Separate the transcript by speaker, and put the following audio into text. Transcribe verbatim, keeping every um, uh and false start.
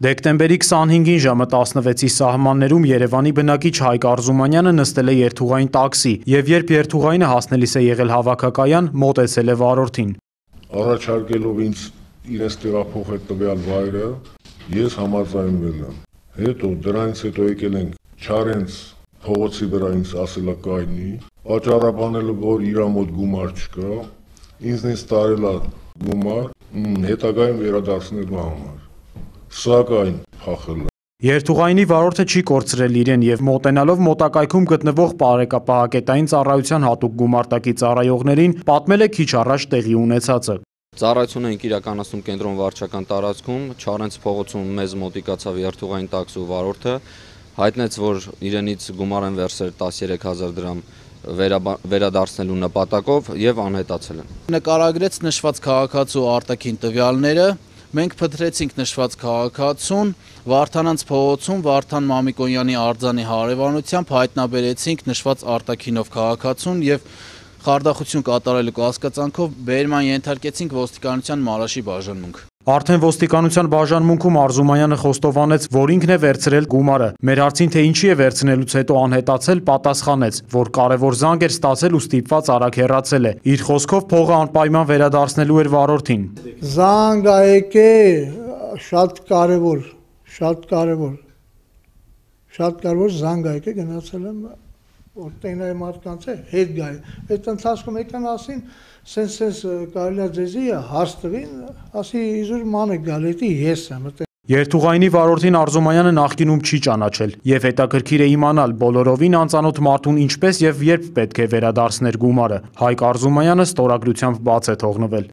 Speaker 1: Դեկտեմբերի քսանհինգին ժամը տասնվեցի սահմաններում Երևանի բնակիչ Հայկ Արզումանյանը նստել է երթուղային տաքսի և երբ երթուղայինը հասնելիս է եղել հավաքակայան, մոտեցել է վարորդին։
Speaker 2: Առաջարկելով ինձ իրենց տեղափոխել տվյալ վայրը, ես համաձայնվել եմ։ Հետո դրանից հետո եկել ենք Չարենց փողոցի վրա ինձ ասելակայնի, պատճառաբանելով, որ իր մոտ գումար չկա, ինձնից տարել է գումար, հետագայում վերադարձնելու համար, սակայն փախել է։
Speaker 1: Երթուղայինի վարորդը չի կորցրել իրեն և մոտենալով մոտակայքում գտնվող պարեկապահակետային ծառայության հատուկ գումարտակի ծառայողներին պատմել է քիչ առաջ տեղի ունեցածը։
Speaker 3: Ծառայություն ենք իրականացնում կենտրոն վարչական տարածքում, Չարենց փողոցում մեզ մոտիկացավ երթուղային տաքսու վարորդը, հայտնեց, որ իրենից գումար են վերցրել տասներեք հազար դրամ վերադարձնելու նպատակով և անհետացել են։
Speaker 4: Նկարագրեց նշված քաղաքացու արտաքին տվյալները, մենք փնտրեցինք նշված քաղաքացուն, Վարդանանց փողոցում Վարդան Մամիկոնյանի արձանի հարևանությամբ հայտնաբերեցինք նշված արտաքինով քաղաքացուն և խարդախություն կատարելու կասկածանքով բերման ենթարկեցինք ոստիկանության Մարաշի բաժանմունք։
Speaker 1: Արդեն ոստիկանության բաժանմունքում Արզումանյանը խոստովանեց, որ ինքն է վերցրել գումարը։ Մեր հարցին, թե ինչի է վերցնելուց հետո անհետացել, պատասխանեց, որ կարևոր զանգ էր ստացել ու ստիպված արագ հեռացել է։ Իր խոսքով փողը անպայման վերադարձնելու էր վարորդին։
Speaker 5: Զանգ ա եկել, շատ կարևոր, շատ կարևոր, շատ կարևոր զանգ ա եկել, գնացել եմ որտեղ մարդկանց է հետ գայ։ Այդ ընթացքում եկան ասին, սենց-սենց կարելի է ձեզի հարց տվին, ասի իզուր ման եք գալ, էդի ես եմ։
Speaker 1: Երթուղայինի վարորդին Արզումանյանը նախկինում չի ճանաչել և հետաքրքիր է իմանալ բոլորովին անծանոթ մարդուն ինչպես և երբ պետք է վերադարձներ գումարը։ Հայկ Արզումանյանը ստորագրությամբ բաց է թողնվել։